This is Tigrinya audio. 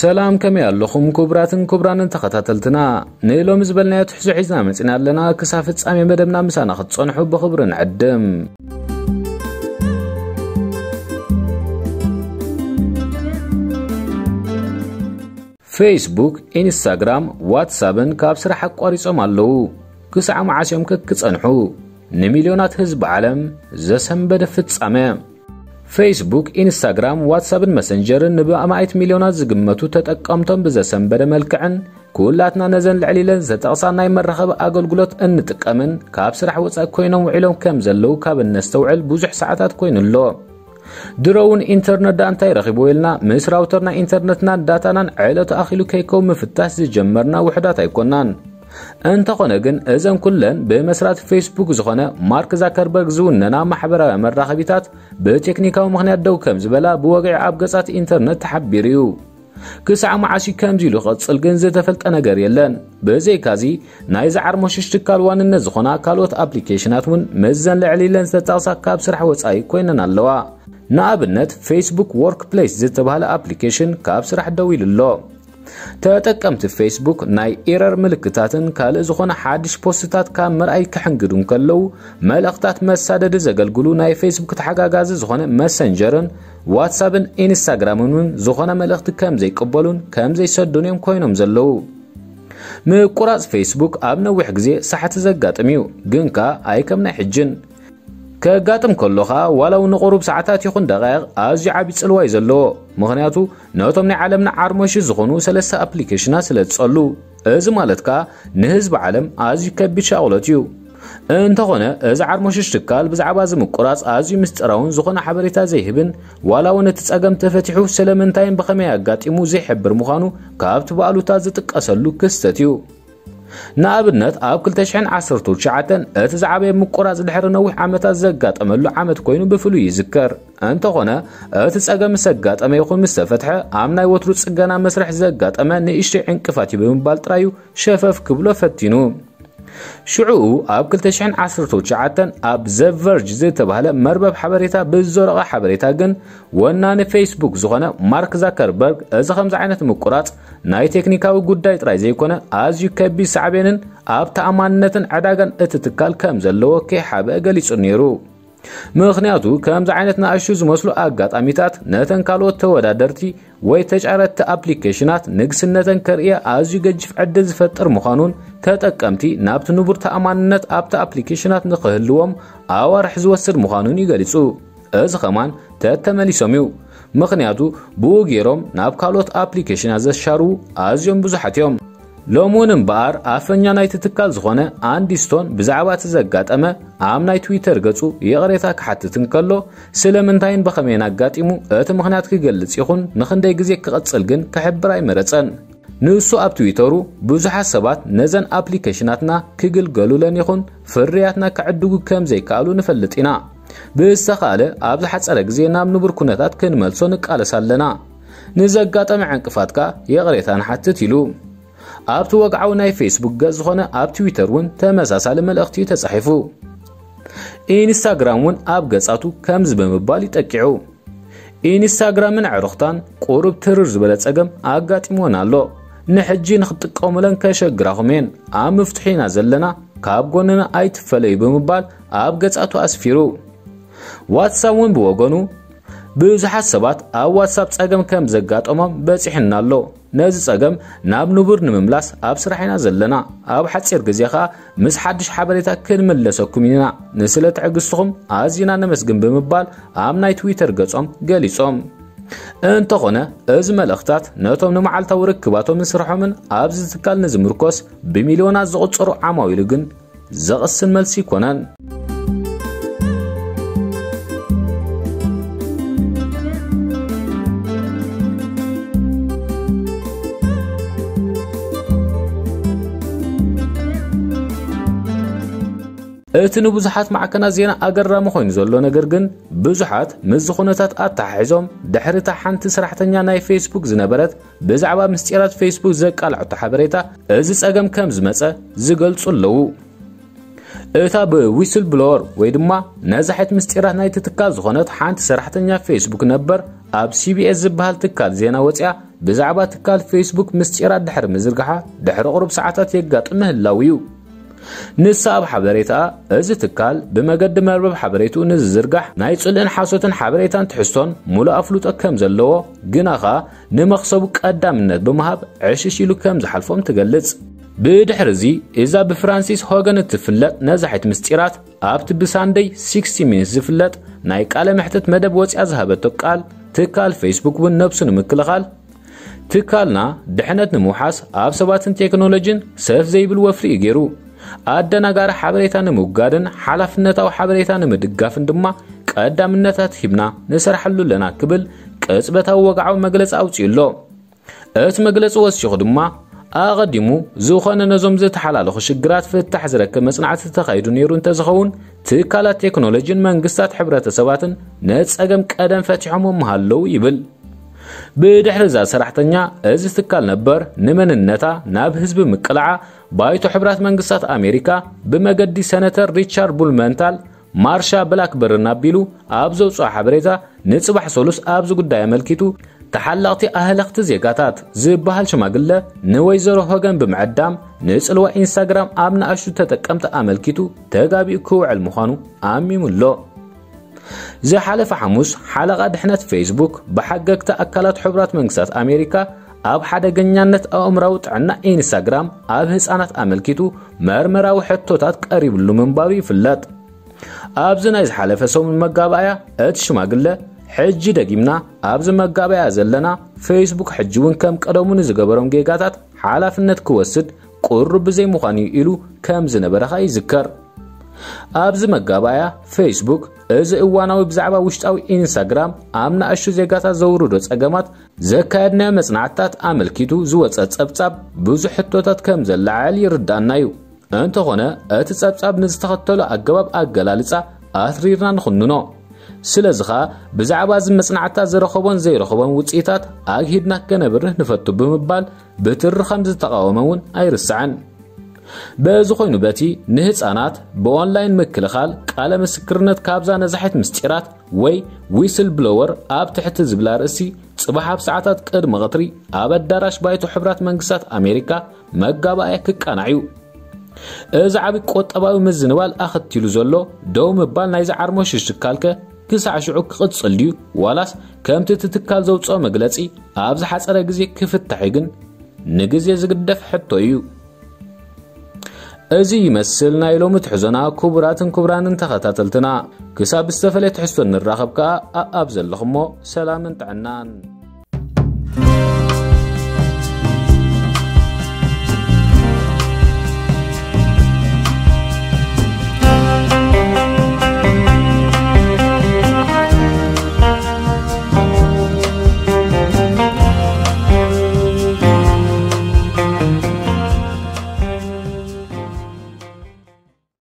ሰላም፣ ከመይ ኣለኹም ክቡራትን ክቡራንን ተኸታተልትና? ንሎሚ ዝበልናዮ ትሕዞ ሒዝና መጺና ኣለና። ክሳብ ፍጻሜ መደብና ምሳና ክትጸንሑ ብኽብሪ ንዕድም። ፌስቡክ፣ ኢንስታግራም፣ ዋትሳፕን ካብ ስራሕ ኣቋሪጾም ኣለዉ። ክሳዕ መዓስ እዮም ከ ክጸንሑ? ንሚልዮናት ህዝቢ ዓለም ዘሰንበደ ፍጻመ። ፌስቡክ፣ ኢንስታግራም፣ ዋትሳፕን መሰንጀርን ንብኣማኢት ሚልዮናት ዝግመቱ ተጠቀምቶም ብዘሰንበደ መልክዕን፣ ኩላትና ነዘን ልዕል ኢለን ዝተጠቕሳ ናይ መራኸቢ ኣገልግሎት እንጥቀምን ካብ ስራሕ ወጻኢ ኮይኖም ውዒሎም ከም ዘለዉ ካብ እነስተውዕል ብዙሕ ሰዓታት ኮይኑ ኣሎ። ድሮ እውን ኢንተርነት ደኣ እንታይ ረኺብዎ ኢልና ምስ ራውተርና ኢንተርነትናን ዳታናን ዕለቱ ኣኺሉ ከይከውን ምፍታሽ ዝጀመርና ውሑዳት ኣይኮናን። እንተኾነ ግን እዘን ኩለን ብመስራቲ ፌስቡክ ዝኾነ ማርክ ዛከርበርግ ዝውነና ማሕበራዊ መራኸቢታት ብቴክኒካዊ ምኽንያት ደው ከም ዝበላ ብወግዒ ኣብ ገጻት ኢንተርነት ተሓቢሩ እዩ። ክሳዕ መዓስ እዩ ከምዚ ኢሉ ክቕጽል ግን ዝተፈልጠ ነገር የለን። ብዘይካዚ ናይዚ ዓርሞሽሽ ትካል ዋንነት ዝኾና ካልኦት ኣፕሊኬሽናት እውን ምስዘን ልዕል ኢለን ዝተጠቕሳ ካብ ስራሕ ወጻኢ ኮይነን ኣለዋ። ንኣብነት ፌስቡክ ወርክ ፕሌስ ዝተባህለ ኣፕሊኬሽን ካብ ስራሕ ደው ኢሉ ኣሎ። ተጠቀምቲ ፌስቡክ ናይ ኤረር ምልክታትን ካልእ ዝኾነ ሓድሽ ፖስትታት ካብ ምርኣይ ክሕንግዱ እንከለዉ፣ መልእኽታት መሳደዲ ዘገልግሉ ናይ ፌስቡክ ተሓጋጋዚ ዝኾነ መሰንጀርን ዋትሳፕን ኢንስታግራምን እውን ዝኾነ መልእኽቲ ከም ዘይቅበሉን ከም ዘይሰዱን እዮም ኮይኖም ዘለዉ። ምቁራጽ ፌስቡክ ኣብ ነዊሕ ግዜ ሳሕቲ ዘጋጥም እዩ፣ ግን ከኣ ኣይከም ናይ ሕጅን። ከጋጥም ከሎ ኸኣ ዋላ እውን ንቁሩብ ሰዓታት ይኹን ደቃይቕ ኣዝዩ ዓቢ ጽልዋ እዩ ዘለዎ። ምኽንያቱ ነቶም ናይ ዓለምና ዓርሞሽ ዝኾኑ ሰለስተ ኣፕሊኬሽናት ስለ ዝጸሉ። እዚ ማለት ከኣ ንህዝቢ ዓለም ኣዝዩ ከቢድ ሻቕሎት እዩ። እንተኾነ እዚ ዓርሞሽሽ ትካል ብዛዕባ እዚ ምቁራጽ ኣዝዩ ምስጢራውን ዝኾነ ሓበሬታ ዘይህብን ዋላ እውን እቲ ጸገም ተፈቲሑ ስለምንታይን ብኸመይ ኣጋጢሙ ዘይሕብር ምዃኑ ካብቲ ባእሉታ ዝጥቀሰሉ ክስተት እዩ። ንኣብነት ኣብ ክልተ ሽሕን ዓሰርተ ትሽዓተን እቲ ዝዓበየ ምቁራጽ ድሕሪ ነዊሕ ዓመታት ዘጋጠመሉ ዓመት ኮይኑ ብፍሉይ ይዝከር። እንተኾነ እቲ ጸገም ምስ ኣጋጠመ ይኹን ምስ ተፈትሐ ኣብ ናይ ወትሩ ጽገና መስርሕ ዘጋጠመ ንእሽተይ ዕንቅፋት እዩ ብምባል ጥራዩ ሸፈፍ ክብሎ ፈቲኑ። ሽዑኡ ኣብ ክልተ ሽሕን ዓሰርተ ትሽዓተን ኣብ ዘ ቨርጅ ዝተባህለ መርበብ ሓበሬታ ብዝዘረቐ ሓበሬታ ግን ወናኒ ፌስቡክ ዝኾነ ማርክ ዛከርበርግ እዚ ከምዚ ዓይነት ምቁራጽ ናይ ቴክኒካዊ ጉዳይ ጥራይ ዘይኮነ ኣዝዩ ከቢድ ሳዕቤንን ኣብ ተኣማንነትን ዕዳጋን እቲ ትካል ከም ዘለዎ ከይሓብአ ገሊጹ ነይሩ። ምኽንያቱ ከምዚ ዓይነት ንኣሽቱ ዝመስሉ ኣጋጣሚታት ነተን ካልኦት ተወዳደርቲ ወይ ተጫረቲ ኣፕሊኬሽናት ንግስነተን ከርእየ ኣዝዩ ገጅፍ ዕድል ዝፈጥር ምዃኑን ተጠቀምቲ ናብቲ ንቡር ተኣማንነት ኣብቲ ኣፕሊኬሽናት ንኽህልዎም ኣዋርሕ ዝወስድ ምዃኑን ይገሊጹ። እዚ ኸማን ተተመሊሶም እዩ። ምኽንያቱ ብኡ ገይሮም ናብ ካልኦት ኣፕሊኬሽናት ዘሻርዉ ኣዝዮም ብዙሓት እዮም። ሎሚ እውን እምበኣር ኣፈኛ ናይቲ ትካል ዝኾነ ኣንዲ ስቶን ብዛዕባ እቲ ዘጋጠመ ኣብ ናይ ትዊተር ገጹ ይቕሬታ ክሓትት እንከሎ፣ ስለምንታይን ብኸመይን ኣጋጢሙ እቲ ምኽንያት ክገልጽ ይኹን ንኽንደይ ግዜ ክቕጽል ግን ክሕብር ኣይመረጸን። ንሱ ኣብ ትዊተሩ ብዙሓት ሰባት ነዘን ኣፕሊኬሽናትና ክግልገሉለን ይኹን ፍርያትና ክዕድጉ ከም ዘይከኣሉ ንፈልጥ ኢና። ብዝተኻእለ ኣብ ዝሓጸረ ግዜ ናብ ንቡር ኩነታት ክንመልሶ ንቃለስ ኣለና። ንዘጋጠመ ዕንቅፋት ከኣ ይቕሬታ ንሓትት ኢሉ። ኣብቲ ወግዓዊ ናይ ፌስቡክ ገጽ ዝኾነ ኣብ ትዊተር እውን ተመሳሳሊ መልእኽቲ እዩ ተጻሒፉ። ኢንስታግራም እውን ኣብ ገጻቱ ከምዚ ብምባል ይጠቂዑ። ኢንስታግራምን ኣዕሩኽታን ቁሩብ ትርር ዝበለ ጸገም ኣጋጢምወን ኣሎ። ንሕጂ ንኽትጥቀሙለን ከሸግራኹም እየን። ኣብ ምፍትሑ ኢና ዘለና፣ ካብ ጎንና ኣይትፈለዩ ብምባል ኣብ ገጻቱ ኣስፊሩ። ዋትሳፕ እውን ብወገኑ ብዙሓት ሰባት ኣብ ዋትሳፕ ጸገም ከም ዘጋጠሞም በጺሑና ኣሎ። ነዚ ጸገም ናብ ንቡር ንምምላስ ኣብ ስራሕ ኢና ዘለና። ኣብ ሓጺር ግዜ ኸኣ ምስ ሓድሽ ሓበሬታ ክንምለሰኩም ኢና። ንስለ ትዕግስትኹም ኣዚና ነመስግን ብምባል ኣብ ናይ ትዊተር ገጾም ገሊጾም። እንተኾነ እዚ መልእኽታት ነቶም ንመዓልታዊ ርክባቶምን ስርሖምን ኣብዚ ትካል ንዝምርኮስ ብሚልዮናት ዝቑጸሩ ዓማዊሉ ግን ዘቕስን መልሲ ኣይኮነን። እቲ ንብዙሓት ማዕከናት ዜና ኣገራሚ ኮይኑ ዘሎ ነገር ግን ብዙሓት ምስዚ ኩነታት ኣተሓሒዞም ድሕሪ እታ ሓንቲ ሰራሕተኛ ናይ ፌስቡክ ዝነበረት ብዛዕባ ምስጢራት ፌስቡክ ዘቃልዐቶ ሓበሬታ እዚ ጸገም ከም ዝመጸ ዝገልጹ ኣለዉ። እታ ብዊስል ብሎወር ወይ ድማ ነዛሒት ምስጢራት ናይቲ ትካል ዝኾነት ሓንቲ ሰራሕተኛ ፌስቡክ ነበር ኣብ ሲ ቢ ኤስ ዝበሃል ትካል ዜና ወፂኣ ብዛዕባ ትካል ፌስቡክ ምስጢራት ድሕሪ ምዝርጋሓ ድሕሪ ቁሩብ ሰዓታት የጋጥም ምህላው እዩ። ንሳ ኣብ ሓበሬታ፣ እዚ ትካል ብመገዲ መርበብ ሓበሬትኡ ንዝዝርጋሕ ናይ ጽልእን ሓሶትን ሓበሬታን ትሕዝቶን ሙሉእ ኣፍልጦ ከም ዘለዎ፣ ግና ኸኣ ንመኽሰቡ ቀዳምነት ብምሃብ ዕሽሽ ኢሉ ከም ዝሓልፎም ትገልጽ። ብድሕሪ እዚ፣ እዛ ብፍራንሲስ ሆገን እትፍለጥ ነዛሒት ምስጢራት ኣብቲ ብሳንደይ ሲክስቲ ሚኒትስ ዝፍለጥ ናይ ቃለ መሕትት መደብ ወፂኣ ዝሃበቶ ቃል፣ ትካል ፌስቡክ እውን ነብሱ ንምክልኻል ትካልና ድሕነት ንምውሓስ ኣብ ሰባትን ቴክኖሎጂን ሰፍ ዘይብል ወፍሪ እዩ ገይሩ። ኣደናጋሪ ሓበሬታ ንምውጋድን ሓላፍነታዊ ሓበሬታ ንምድጋፍን ድማ ቀዳምነታት ሂብና ንሰርሓሉ ኣለና ክብል ቅጽበታዊ ወግዓዊ መግለጺ ኣውጺኡ ኣሎ። እቲ መግለጺ ወሲኹ ድማ ኣቐዲሙ ዝኾነ ነዞም ዝተሓላለኹ ሽግራት ፍታሕ ዝረክብ መጽናዕቲ ተኻይዱ ነይሩ እንተዝኸውን ትካላት ቴክኖሎጂን መንግስታት ሕብረተሰባትን ነጸገም ቀደም ፈቲሖሞ ምሃለዉ ይብል። ብድሕሪ እዛ ሰራሕተኛ እዚ ትካል ነበር ንመንነታ ናብ ህዝቢ ምቅላዓ ባይቶ ሕብራት መንግስታት ኣሜሪካ ብመገዲ ሰነተር ሪቻርድ ቡልመንታል ማርሻ ብላክበርን ኣቢሉ ኣብ ዘውፅኦ ሓበሬታ ንፅባሕ ሰሉስ ኣብዚ ጉዳይ ኣመልኪቱ ተሓለቕቲ ኣህለኽቲ ዜጋታት ዝበሃል ሽማግለ ንወይዘሮ ሆገን ብምዕዳም ንፅልዋ ኢንስታግራም ኣብ ንኣሽቱ ተጠቀምቲ ኣመልኪቱ ተጋቢኡ ክውዕል ምዃኑ ኣሚሙ ኣሎ። ዝሓለፈ ሓሙስ ሓለቓ ድሕነት ፌስቡክ ብሓገግቲ ኣካላት ሕቡራት መንግስታት ኣሜሪካ ኣብ ሓደገኛነት ኣእምራዊ ጥዕና ኢንስታግራም ኣብ ህፃናት ኣመልኪቱ መርመራዊ ሕቶታት ቀሪብሉ ምንባሩ ይፍለጥ። ኣብዚ ናይ ዝሓለፈ ሰሙን መጋባእያ እቲ ሽማግለ ሕጂ ደጊምና ኣብዚ መጋባእያ ዘለና ፌስቡክ ሕጂ እውን ከም ቀደሙ ንዝገበሮም ጌጋታት ሓላፍነት ክወስድ ቁሩብ ብዘይምዃኑ እዩ ኢሉ ከም ዝነበረ ኸኣ ይዝከር። ኣብዚ መጋባእያ ፌስቡክ እዚ እዋናዊ ብዛዕባ ውሽጣዊ ኢንስታግራም ኣብ ንኣሽቱ ዜጋታት ዘውርዶ ጸገማት ዘካየድናዮ መጽናዕትታት ኣመልኪቱ ዝወጸ ጸብጻብ ብዙሕ ሕቶታት ከም ዘለዓዕል ይርዳእና እዩ። እንተኾነ እቲ ጸብጻብ ንዝተኸተሎ ኣገባብ ኣገላልጻ ኣትሪርና ንኹንኖ። ስለዚ ኸኣ ብዛዕባ እዚ መጽናዕትታት ዝረኸቦን ዘይረኸቦን ውጽኢታት ኣግሂድና ከነብርህ ንፈቱ ብምባል ብትሪ ከም ዝተቓወመ እውን ኣይርስዕን። በዚ ኮይኑ በቲ ንህፃናት ብኦንላይን ምክልኻል ቃለ ምስክርነት ካብዛ ነዛሒት ምስጢራት ወይ ዊስል ብሎወር ኣብ ትሕቲ ዝብላ ርእሲ ጽባሕ ኣብ ሰዓታት ቅድሚ ቐትሪ ኣብ ኣዳራሽ ባይቶ ሕብራት መንግስታት ኣሜሪካ መጋባእያ ክቃናዕ እዩ። እዚ ዓቢ ቁጠባዊ ምዝንባል ኣኸቲሉ ዘሎ ደው ምባል ናይዚ ዓርሞሽ ሽካልከ ክሳዕ ሽዑ ክቕጽል ድዩ ዋላስ ከምቲ እቲ ትካል ዘውፅኦ መግለጺ ኣብ ዝሓጸረ ግዜ ክፍታሕ እዩ ግን ንግዜ ዝግደፍ ሕቶ እዩ። እዚ ይመስል ናይ ሎሚ ትሕዞና። ክቡራትን ክቡራንን ተኸታተልትና፣ ክሳብ ዝተፈለየ ትሕዝቶ ንራኸብ ከኣ ኣኣብ ዘለኹሞ ሰላምን ጥዕናን።